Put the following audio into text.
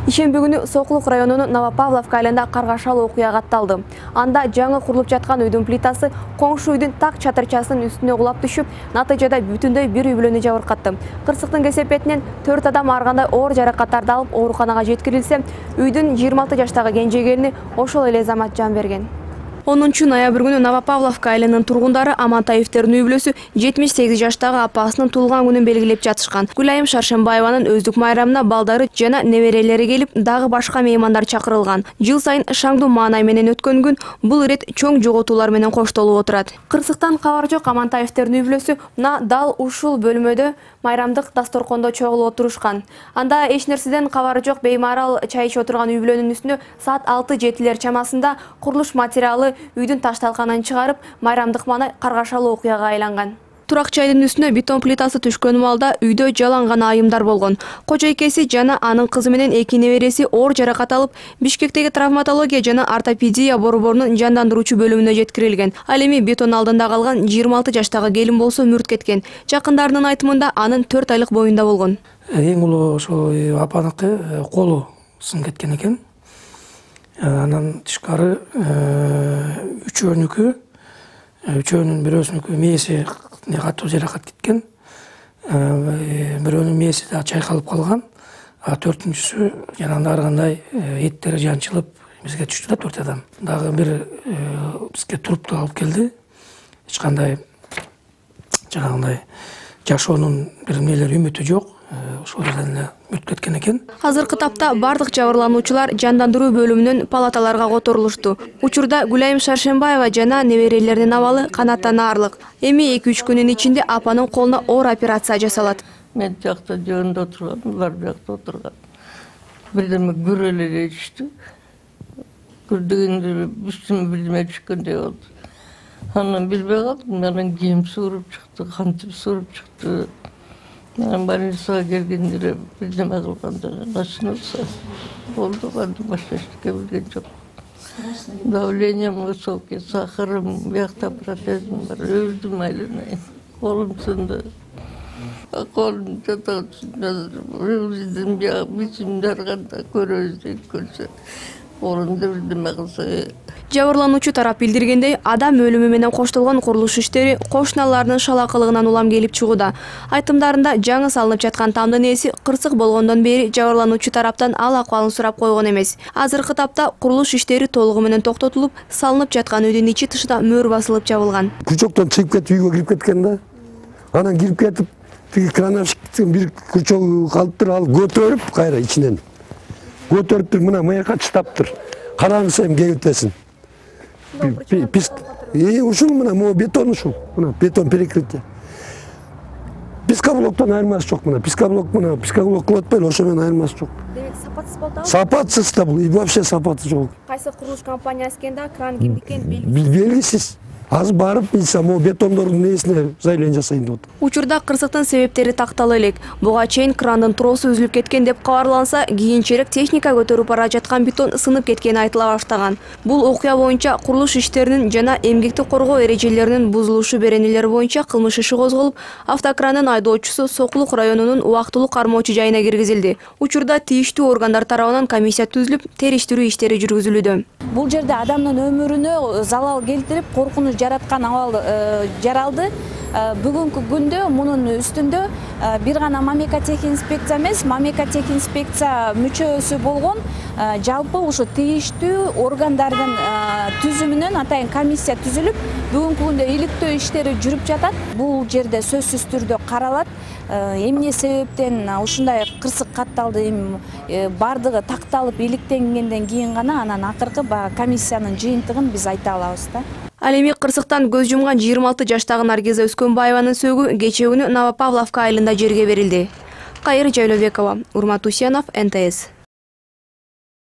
Ишемби күнү Сокулук районунун Новопавловка айылында каргашалуу окуя катталды. Анда жаңы курулуп жаткан үйдүн плитасы коңшу үйдүн так чатырчасынын үстүнө кулап түшүп, натыйжада бүтүндөй бир үй бүлөнү жабыркатты. Кырсыктын кесепетинен 4 адам ар кандай оор жаракаттарды алып ооруканага жеткирилсе, үйдүн 26 жаштагы кенже келини ошол эле замат жан берген. 10 ноябрь күнү Новопавловка айылынын тургундары Амантаевтердин үй бүлөсү 78 жаштагы апасынын туулган күнүн белгилеп жатышкан. Гүлайым Шаршембаеванын өздүк майрамына балдары жана неберелери келип, дагы башка меймандар чакырылган. Жыл сайын шаңдуу маанай менен өткөн күн бул ирет чоң жоготуулар менен коштолуп отурат. Кырсыктан кабар жок Амантаевтердин үй бүлөсү мына дал ушул бөлмөдө майрамдык дасторкондо чогулуп отурушкан. Анда эч нерседен кабары жок беймарал чай ичип отурган үй бүлөнүн үстүнө саат 6-7 чамасында курулуш материалы үйдүн ташталканын чыгарып, майрамдык маанай каргашалуу окуяга айланган. Турак чайдын үстүнө бетон плитасы түшкөн маалда үйдө жалаң гана айымдар болгон. Кожойкеси жана анын кызы менен 2 небереси оор жаракат алып, Бишкектеги травматология жана ортопедия борборунун жандандыруучу бөлүмүнө жеткирилген. Ал эми бетон алдында калган 26 жаштагы келин болсо мүрт кеткен. Жакындарынын айтымында анын 4 айлык боюнда болгон. Эң улуу ошол апаныкы колу сынып кеткен экен. Анан тышкары үчөөнүн бирөөсүнүкү мээси катуу жаракат кеткен. Бирөөнүн мээси да чайкалып калган. А 4-сү жанагындай ар кандай эттери жанчылып бизге түштү да 4 адам. Дагы бир бизге трупты алып келди. Эч кандай жанагындай жашоонун бир нелери үмүтү жок. Ошол жерден эле мүрт кеткен экен. Азыркы тапта бардык жабырлануучулар жандандыруу бөлүмүнөн палаталарга которулушту. Учурда Гүлайым Шаршембаева жана неберелеринин абалы канаттан аарлык. Эми 2-3 күнүн ичинде апанын колуна оор операция жасалат. Мен жакта жөнүндө отурган, булар бuyakta отурган. Бирдеме көрө эле түштү. Көрдөгөндө үстүмө бирдеме түшкөндөй болду. Анан билбей калдым, анан кийим сууруп чыкты, кантип сууруп чыкты. Больницага келгенде бирдеме кылганда начнулся. Болду, барды башка эчтеке билген жок. Давлением высокий, сахарым, бuyakta протезим бар, өлдүм айланайын. Колум сынды. Колум жатат үстүндө бияк бичимди арганда көрөбүз дейт көрсө. Орунда бирдеме кылса. Жабырлануучу тарап билдиргендей, адам өлүмү менен коштолгон курулуш иштери кошуналарынын шалакылыгынан улам келип чыгууда. Айтымдарында жаңы салынып жаткан тамдын ээси кырсык болгондон бери жабырлануучу тараптан ал акыбалын сурап койгон эмес. Азыркы тапта курулуш иштери толугу менен токтотулуп, салынып жаткан үйдүн ичи тышына мөр басылып жабылган. Күчөктөн чыгып кетип үйгө кирип кеткен да. Анан кирип кетип, тиги крановщиктин бир күчөгү калыптыр, ал көтөрүп кайра ичинен. Көтөрүптүр, мына мыяка чытаптыр. Караңыз эми кебитесин. Ушул мына могу бетон ушул. Мына бетон перекрытие. Пискоблоктон айырмасы жок мына. Пискоблок кылып атпайлы, ошо менен айырмасы жок. Демек сапатсыз болду да? Сапатсыз да бул, вообще сапаты жок. Кайсы курулуш компаниясы экенде, кран кимдики белгисиз. Азыр барып билсем, могу бетондордун несине заявление жасайын деп атат. Учурда кырсыктын себептери тактала элек. Буга чейин крандын тросу үзүлүп кеткен деп кабарланса, кийинчерээк техника көтөрүп бара жаткан бетон сынып кеткени айтыла баштаган. Бул окуя боюнча курулуш иштеринин жана эмгекти коргоо эрежелеринин бузулушу беренелери боюнча кылмыш иши козголуп, автокрандын айдоочусу Сокулук районунун убактылуу кармоочу жайына киргизилди. Учурда тийиштүү органдар тарабынан комиссия түзүлүп, териштирүү иштери жүргүзүлүүдө. Бул жерде адамдын өмүрүнө залал келтирип, коркунуч жараткан абал жаралды. Бүгүнкү күндө мунун үстүндө бир гана мамлекеттик эмес, мамлекеттик инспекция мүчөсү болгон жалпы ушу тийиштүү органдардын түзүмүнөн атайын комиссия түзүлүп, бүгүнкү күндө иликтөө иштери жүрүп жатат. Бул жерде сөзсүз түрдө каралат. Эмне себептен ушундай кырсык катталды, бардыгы такталып иликтенгенден кийин гана анан акыркы комиссиянын жыйынтыгын биз айта алабыз да. Ал эми кырсыктан көз жумган 26 жаштагы Наргиза Өскөнбаеванын сөөгү кечээ күнү Новопавловка айылында жерге берилди. Кайыр Жайлообекова, Урмат Усенов, НТС.